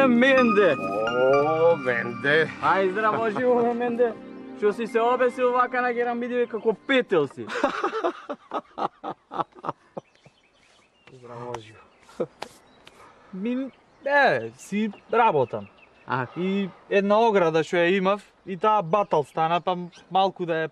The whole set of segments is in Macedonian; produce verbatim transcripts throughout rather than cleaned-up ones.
Менде! О, Менде! Ај, здраво живо, бе, Менде! Што си се обесил вака на герамидиве како петел си? Здраво живо. Ми, е, си работам. А, И една ограда што ја имав, и таа батал стана, па малку да ја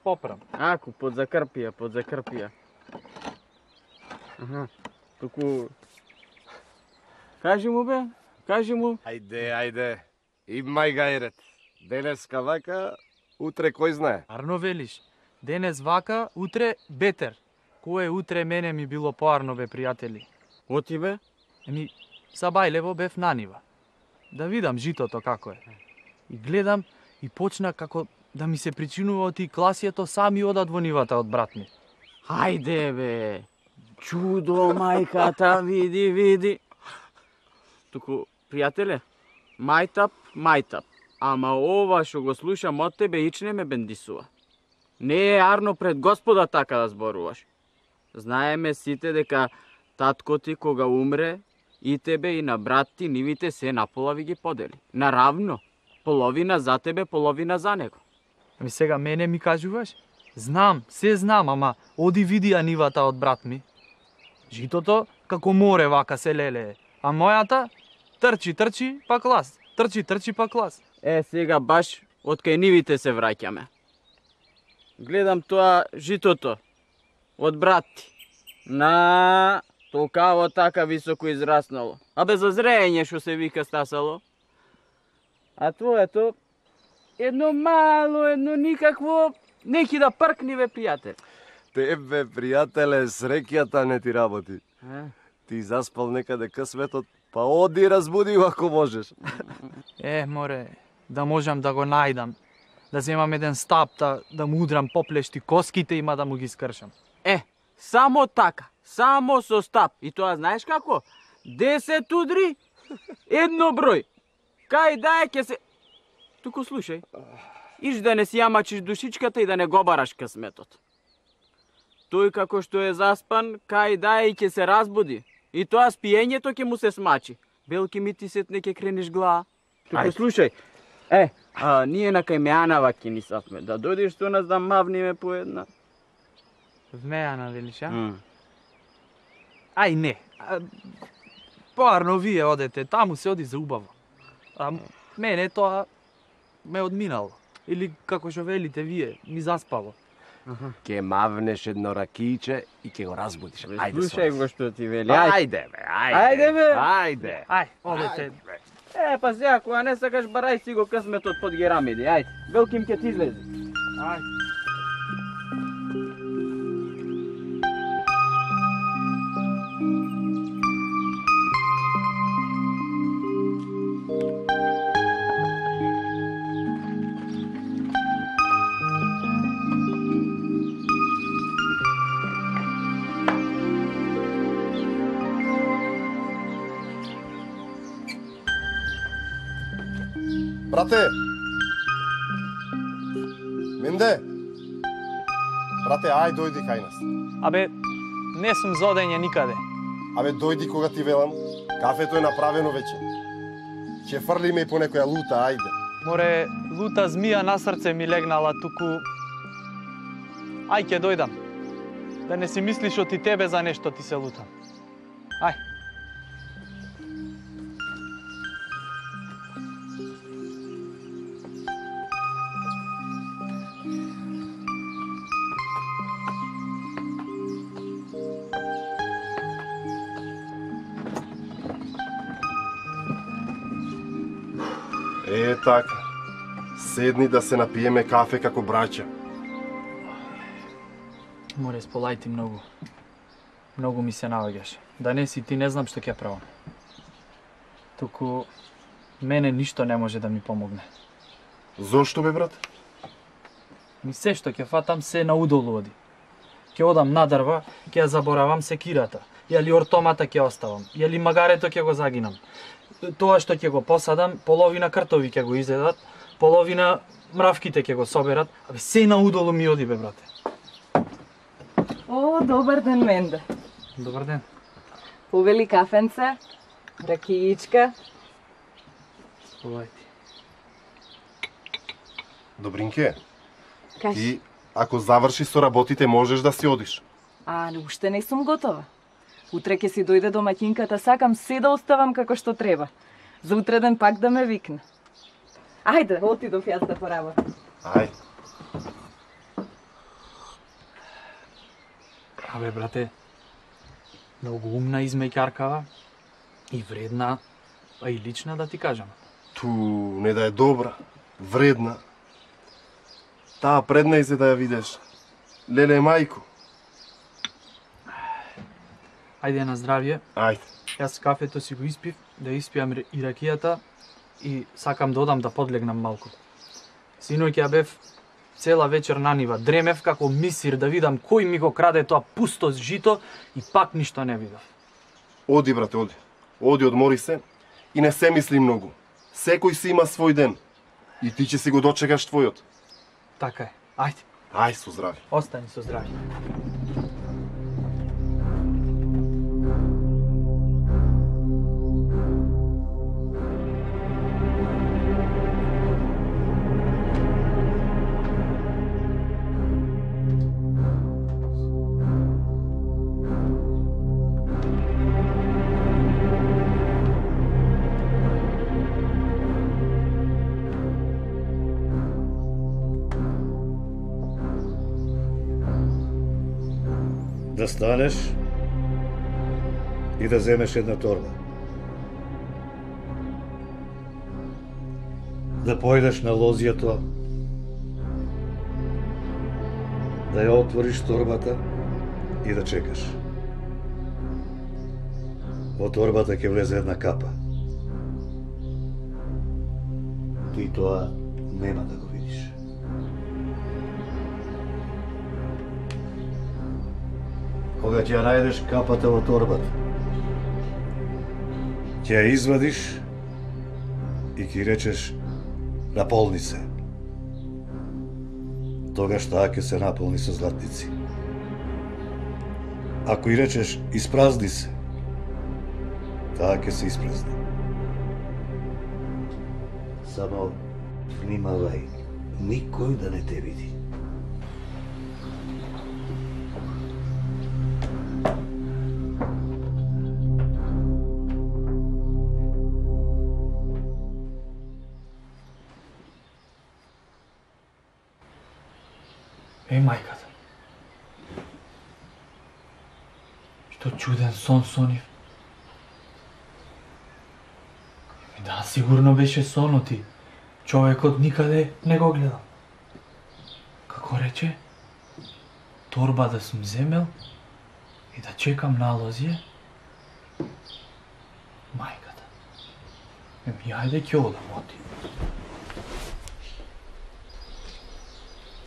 поправам. аку, под закрпија, под закрпија. Аха, туку... Кажи му, бе, кажи му. Ајде, ајде. Имај гајрет. Денеска вака, утре кој знае. Арно велиш, денес вака, утре бетер. Кое утре мене ми било поарно, бе, пријатели. Оти, бе? Еми, са бајлево бев на нива. Да видам житото како е. И гледам и почна како да ми се причинува од и класијето сами одат во нивата од брат ми. Хајде, бе. Чудо, мајката, види, види. Туку, пријателе, мајтап, мајтап. Ама ова што го слушам од тебе ич не ме бендисува. Не е арно пред Господа така да зборуваш. Знаеме сите дека татко ти кога умре, и тебе и на брат ти нивите се напола ви ги подели. Наравно, половина за тебе, половина за него. Ами сега мене ми кажуваш? Знам, се знам, ама оди види ја нивата од брат ми. Житото како море вака се лелее, а мојата трчи, трчи, па клас. Трчи, трчи, па клас. Е, сега баш од кај нивите се враќаме. Гледам тоа житото од брат ти. На толкаво така високо израснало. А без зрејење што се вика стасало. А твоето едно мало, едно никакво, неки да пркни, бе, пријател. Тебе, пријателе, среќата не ти работи. А? Ти заспал некаде късметот, па оди разбуди го ако можеш. Е, море, да можам да го најдам. Да земам еден стап, да, да му удрам поплешти коските и ма да му ги скршам. Е, само така, само со стап. И тоа знаеш како? Десет удри, едно број. Кај да е ке се... Туку слушај, иш да не си јамачиш душичката и да не го бараш късметот. Тој како што е заспан, кај да е и ке се разбуди. И тоа спиењето ќе му се смачи. Белки ми ти сетне ке крениш глава. Туку слушај, е, а, ние на кај Меанава ќе ни сафме. Да дојдеш со нас да мавниме по една. Вмеана, велиш, а? Mm. Ај, не. А, поарно вие одете, таму се оди за убаво. А мене тоа ме одминало. Или како што велите вие, ми заспало. Ке мавнеш едно ракијче и ке го разбудиш. Бе, Ајде, слушај со го што ти вели. Ајде. Ајде, бе, ајде. Ајде, бе. Ајде. Ај, одете. Е, па сега, кога не сакаш, барај си го късметот под герамиди, ајде. Белким ке ти излезе. Ај. Брате! Менде! Брате, ај дојди кај нас. Абе, не сум за одење никаде. Абе, дојди кога ти велам. Кафето е направено веќе. Ќе фрлиме и по некоја лута, ајде. Море, лута змија на срце ми легнала туку... Ај, ќе дојдам. Да не си мислиш од и тебе за нешто ти се лутам. Ај. Е, така. Седни да се напиеме кафе како браќа. Море, сполај ти многу. Многу ми се наоѓаш. Да не си ти, не знам што ќе правам. Туку, мене ништо не може да ми помогне. Зошто бе, брат? Ми се што ќе фатам се наудолу оди. Ќе одам на дрва, ќе ја заборавам секирата. Јали ортомата ќе оставам, јали магарето ќе го загинам. Тоа што ќе го посадам, половина кртови ќе го изедат, половина мравките ќе го соберат, абе се наудолу ми оди бе, брате. О, добар ден, Менде. Добар ден. Повели кафенце, ракијичка. Овајти. Добринке, Кажи. ти ако заврши со работите можеш да си одиш. А, но уште не сум готова. Утре ќе си дојде домаќинката, сакам се да оставам како што треба. За утреден пак да ме викне. Ајде, отидов јас да поработам. Ај, Абе, брате, многу умна измејкаркава и вредна, а и лична да ти кажам. ту не да е добра, вредна. Таа предна се да ја видиш. Леле мајко. Ајде на здравје. Ајде. Јас кафето си го испив, да испијам ре- и ракијата и сакам да одам да подлегнам малку. Синоќ ја бев цела вечер на нива, дремев како мисир да видам кој ми го краде тоа пусто жито и пак ништо не видов. Оди, брате, оди. Оди, одмори се и не се мисли многу. Секој си има свој ден. И ти ќе си го дочекаш твојот. Така е. Ајде, Ај, со здравје. остани со здравје. Да станеш и да земеш една торба. Да појдеш на лозијето, да ја отвориш торбата и да чекаш. Во торбата ќе влезе една капа. Ти тоа нема да го видиш. Кога ќе ја најдеш капата во торбата, ќе ја извадиш и ќе речеш наполни се. Тогаш таа ќе се наполни со златници. Ако и речеш испразни се, таа ќе се испразни. Само внимавај, никој да не те види. Е, мајката. Што чуден сон сонив. Да, сигурно беше сонот и човекот никаде не го гледал. Како рече? Торба да сум земел и да чекам на лозие? Мајката. Еми, ајде ќе одам, оти.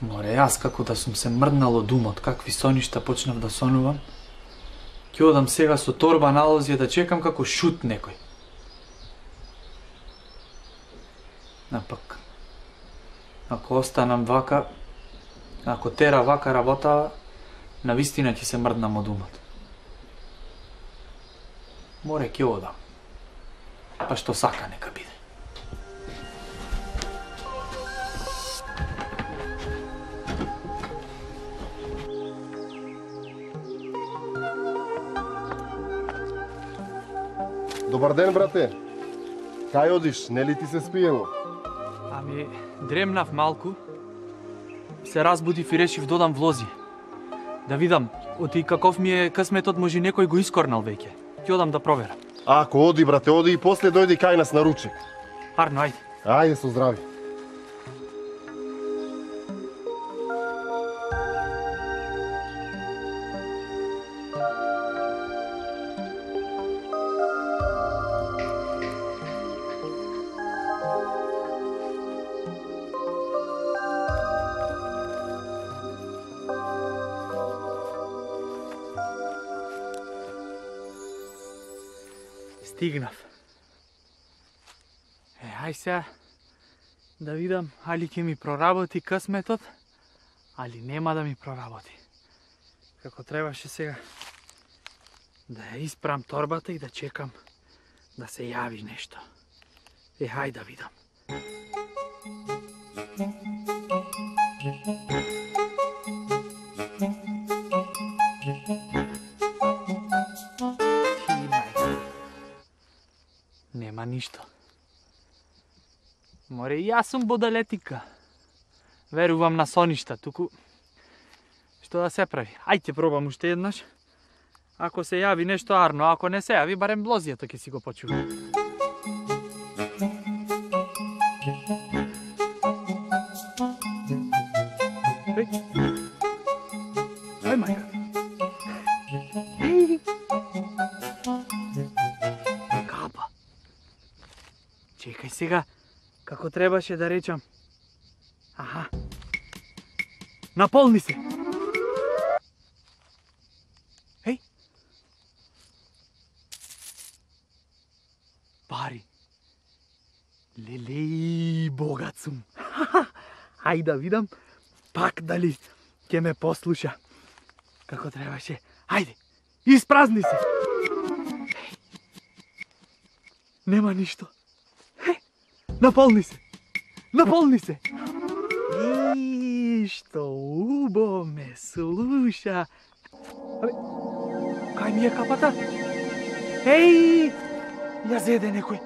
Море, јас како да сум се мрднал од умот, какви соништа почнав да сонувам, ќе одам сега со торба на лозие да чекам како шут некој. Напак, ако останам вака, ако тера вака работа, навистина ќе се мрднам од умот. Море, ќе одам. Па што сака нека биде. Добар ден, брате. Кај одиш? Нели ти се спиело? Ами, дремнав малку, се разбудив и решив додам влози. Да видам, оти каков ми е късметот, може некој го искорнал веќе. Ќе одам да проверам. Ако оди, брате, оди и после дојди кај нас на ручек. Арно, ајде. Ајде, со здравје. Стигнав. Е, ај сега да видам али ќе ми проработи късметот, али нема да ми проработи. Како требаше сега да ја испрам торбата и да чекам да се јави нешто. Е, хај да видам. Нема ништо. Море, и јас сум бодалетика. Верувам на соништа, туку... Што да се прави? Ајде пробам уште еднаш. Ако се јави нешто арно, ако не се јави, барем блозијето ќе си го почувам. Еј, Ај, мајка. Еј. Капа. Чекај сега, како требаше да речам. Аха. Наполни се. Еј. Пари. Лелеј, богат сум. Ај да видам пак дали ќе ме послуша. Како требаше. Ајде, испразни се. Еј. Нема ништо. Еј. Наполни се. Наполни се. И што убо ме слуша. Абе, кај ми е капата? Еј, ја зеде некој.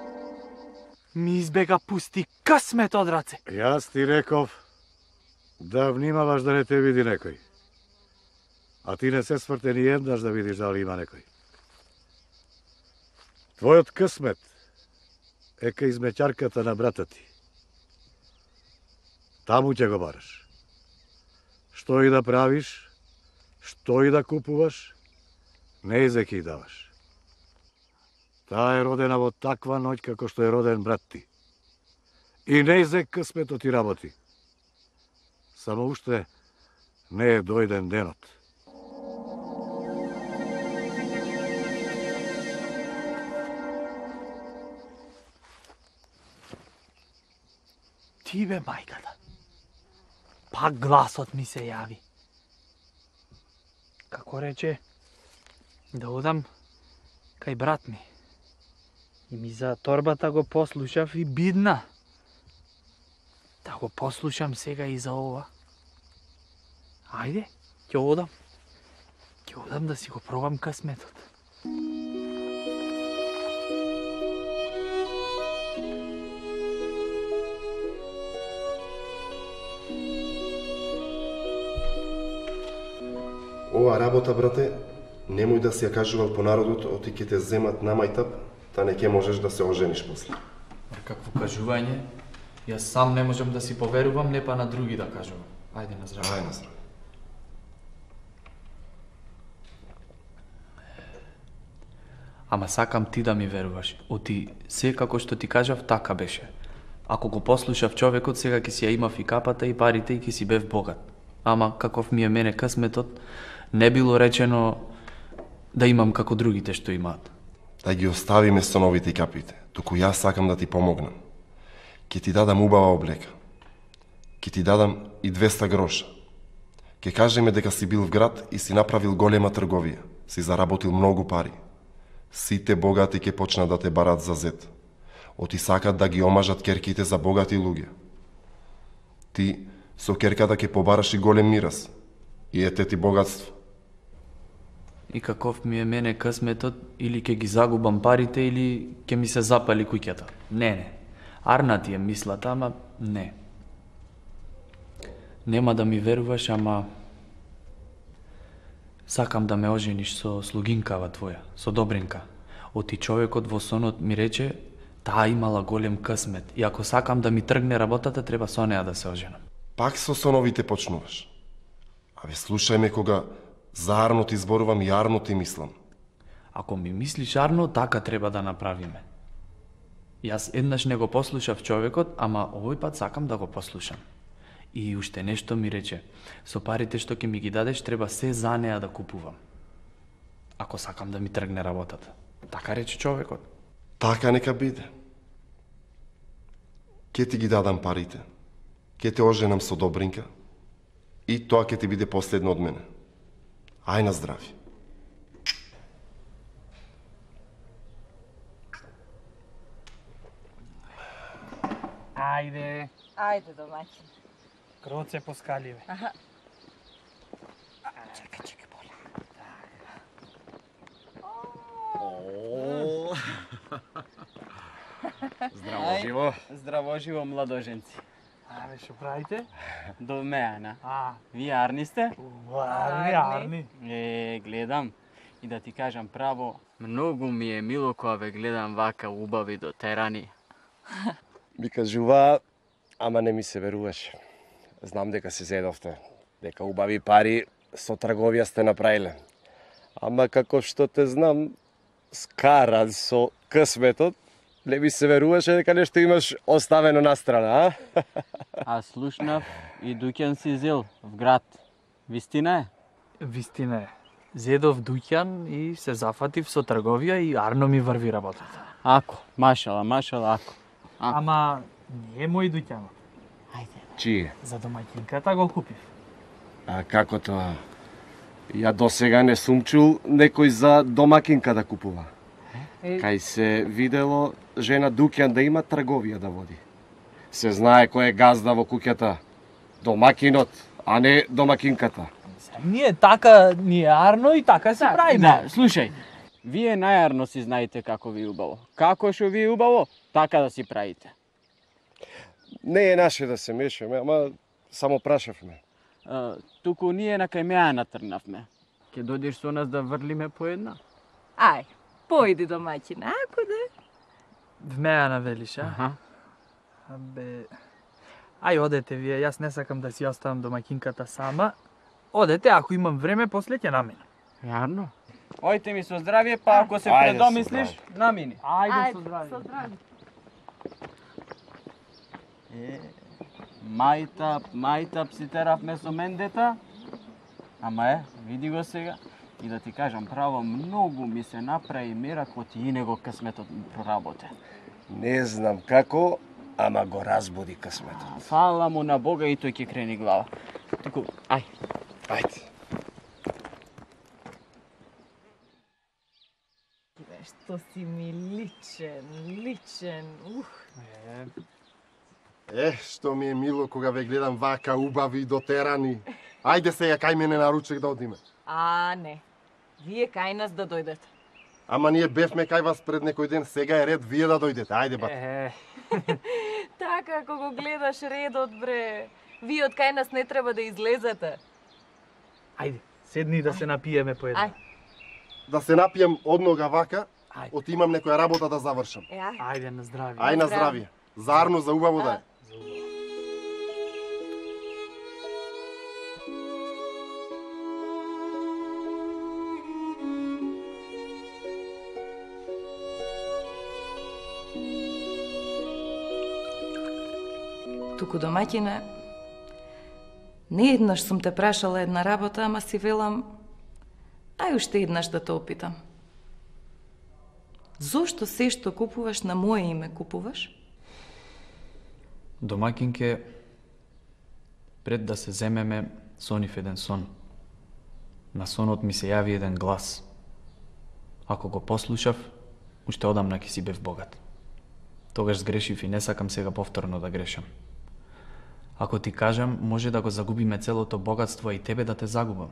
Ми избега пусти късмет од раце. Јас ти реков да внимаваш да не те види некој. А ти не се сврте ни еднаш да видиш дали има некој. Твојот късмет е кај измеќарката на брата ти. Таму ќе го бараш. Што и да правиш, што и да купуваш, не зе ќе даваш. Таа е родена во таква ноќ како што е роден брат ти. И не зе късметот ти работи. Само уште не е дојден денот. Ти бе мајката. Пак гласот ми се јави. Како рече, да одам кај брат ми. И ми за торбата го послушав и бидна. Да го послушам сега и за ова. Ајде, ќе одам. Ќе одам да си го пробам късметот. Ова работа, брате, немој да си ја кажувал по народот, оти ќе те земат на мајтап, та не ќе можеш да се ожениш после. Какво кажување? Јас сам не можам да си поверувам, не па на други да кажувам. Ајде на здраве. Ај на здраве. Ама сакам ти да ми веруваш. Оти се како што ти кажав, така беше. Ако го послушав човекот, сега ќе си ја имав и капата и парите и ќе си бев богат. Ама каков ми е мене късметот, не било речено да имам како другите што имаат. Да ги оставиме стоновите и капите. Туку јас сакам да ти помогнам. Ке ти дадам убава облека. Ке ти дадам и двеста гроша. Ке кажеме дека си бил в град и си направил голема трговија. Си заработил многу пари. Сите богати ке почнат да те барат за зет. Оти сакат да ги омажат керките за богати луѓе. Ти со керката ке побараш и голем мирас. И ете ти богатство. И каков ми е мене късметот, или ќе ги загубам парите, или ќе ми се запали куќата. Не, не. Арна ти е мислата, ама не. Нема да ми веруваш, ама сакам да ме ожениш со слугинкава твоја, со Добринка. Оти човекот во сонот ми рече, таа имала голем късмет. И ако сакам да ми тргне работата, треба со неа да се оженам. Пак со соновите почнуваш. Абе, слушај ме кога за арно ти зборувам и арно ти мислам. Ако ми мислиш арно, така треба да направиме. Јас еднаш не го послушав човекот, ама овој пат сакам да го послушам. И уште нешто ми рече, со парите што ќе ми ги дадеш, треба се за неа да купувам. Ако сакам да ми тргне работата. Така рече човекот. Така нека биде. Ке ти ги дадам парите. Ке те оженам со Добринка. И тоа ќе ти биде последно од мене. Ај на здрави. Ајде, Ајде, домаќин. кроце по скаливе. Аха. Чекај, чекај, боля. Здраво живо. Здраво живо, младоженци. Абе, што правите? До меана. А, Вие арни сте? арни, арни. Е, гледам. И да ти кажам право, многу ми е мило кога ве гледам вака убави дотерани. Ми кажува, ама не ми се веруваше. Знам дека се зедовте, дека убави пари со трговија сте направиле. Ама како што те знам, скаран со късметот, не ми се веруваше дека нешто имаш оставено настрана, а? А слушнав и дуќан си зел в град. Вистина е? Вистина е. Зедов дуќан и се зафатив со трговија и арно ми врви работата. Ако, машала, машала, ако. А. Ама не е мој дуќанот. Чие? За домаќинката го купив. А како тоа? Ја досега не сум чул некој за домакинка да купува. Е, Кај се видело жена дуќан да има трговија да води. Се знае кој е газда во куќата. Домакинот, а не домакинката. Ние така, ние арно и така се правиме. Да, слушај, вие најарно си знаете како ви е убаво. Како што ви е убаво, така да си правите. Не е наше да се мешаме, ама само прашавме. А, туку ние на кај меа натрнавме. Ке дојдеш со нас да врлиме по една? Ај, појди домаќин, ако да. В меа навелиш, а? Аха. Абе... Ај, одете вие, јас не сакам да си оставам домаќинката сама. Одете, ако имам време, после ќе наминам. Јарно? Ојте ми со здравје, па ако се Ајде, предомислиш, намини. Ајде, со здравје. со здравје. Е, мајтап, мајтап си теравме со мендета. Ама е, види го сега. И да ти кажам право, многу ми се направи меракот и него късметот ми проработе. Не знам како, ама го разбуди късметот. Фала му на Бога и тој ќе крени глава. Туку, ај. Ајде. Што си ми личен, личен, ух. Е, што ми е мило кога ве гледам вака убави и дотерани. Ајде сега кај мене на ручек да одиме. А, не. Вие кај нас да дојдете. Ама ние бевме кај вас пред некој ден, сега е ред вие да дојдете. Ајде бат. Е, Така, ако го гледаш редот, бре. Вие од кај нас не треба да излезете. ајде, седни да се напиеме по една. Ај, Да се напијам однога вака, Ајде. отимам некоја работа да завршам. е, ај. Ајде на здравје. Ај на здравје. Зарно за убаво да е. Туку домаќине, не еднаш сум те прашала една работа, ама си велам, ај уште еднаш да те опитам. Зошто се што купуваш на моје име купуваш? Домакинке, пред да се земеме, сонив еден сон. На сонот ми се јави еден глас. Ако го послушав, уште одамна ќе си бев богат. Тогаш сгрешив и не сакам сега повторно да грешам. Ако ти кажам, може да го загубиме целото богатство, а и тебе да те загубам.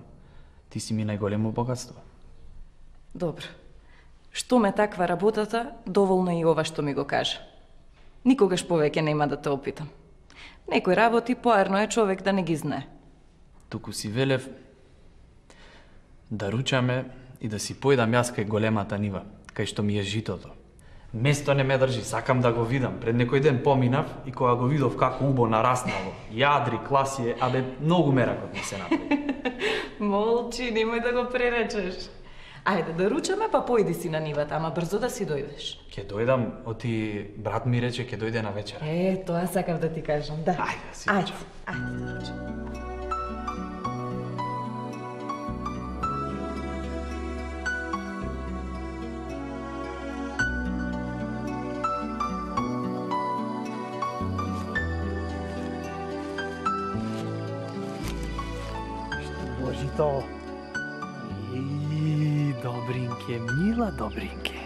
Ти си ми најголемо богатство. Добро. Што ме таква работата, доволно и ова што ми го кажа. Никогаш повеќе нема да те опитам. Некој работи поарно е човек да не ги знае. Туку си велев да ручаме и да си појдам јас кај големата нива, кај што ми е житото. Место не ме држи, сакам да го видам. Пред некој ден поминав и кога го видов како убо нараснало, јадри, класие, абе многу меракот ми се направи. Молчи, немој да го преречеш. Ајде да ручаме, па појди си на нивата, ама брзо да си дојдеш. Ќе дојдам, оти брат ми рече ќе дојде на вечера. Е, тоа сакав да ти кажам, да. Ајде да си Ајде, ручам. ајде да ручаме. Божито. И Добринке, мила Добринке.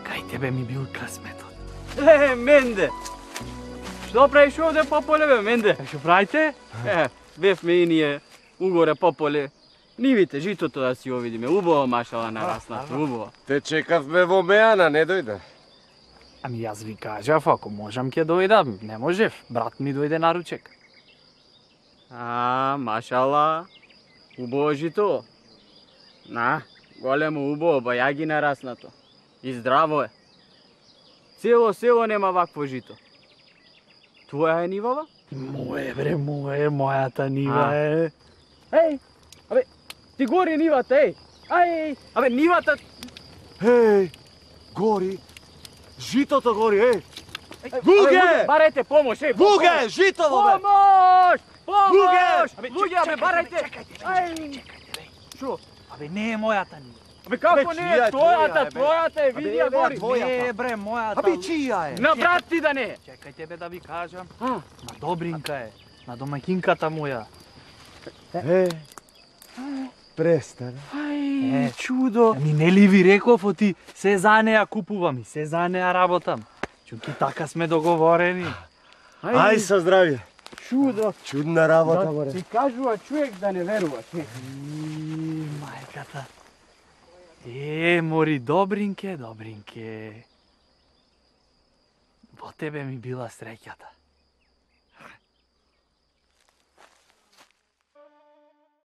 Кај тебе ми бил късметот. Е, менде! Што правиш овде пополе бе, менде? Што правите? Е, бевме и ние угоре пополе. Нивите, житото да си овидиме. Убаво машала нараснато, убаво. Те чекавме во Меана, не дојде. Ами јас ви кажав, ако можам ќе дојдам. Не можев, брат ми дојде на ручек. А, машала. Убаво жито. На, големо убаво, бајаги нараснато. И здраво е. Цело село нема вакво жито. Твоја е нивава? Моје бре, моје, мојата нива А. е. Еј, абе, ти гори нивата, еј. Ај, абе, нивата... Еј, гори. Житото гори, еј. Абе, барајте помош, еј. Буге, житово бе. Помош! Помош! Луѓе! Абе, луѓе, абе, барајте! Ај! Шо? Абе не е мојата нива. Абе, како Абе, не чија е? е Твојата, твоја, бе? твојата е, види ја гори. Не е бре, мојата. Абе, чија е? На брат ти да не е. Чекајте бе да ви кажам. А, На Добринка е, на домаќинката моја. Е, престана. Ај, чудо. Ами нели ви реков оти, се за неа купувам и се за неа работам. Чуки така сме договорени. Ај со здравје. чудо. Чудна работа, море. Ти кажува човек да не веруваш. Е. И, мајката. Е, мори, Добринке, Добринке. Во тебе ми била среќата.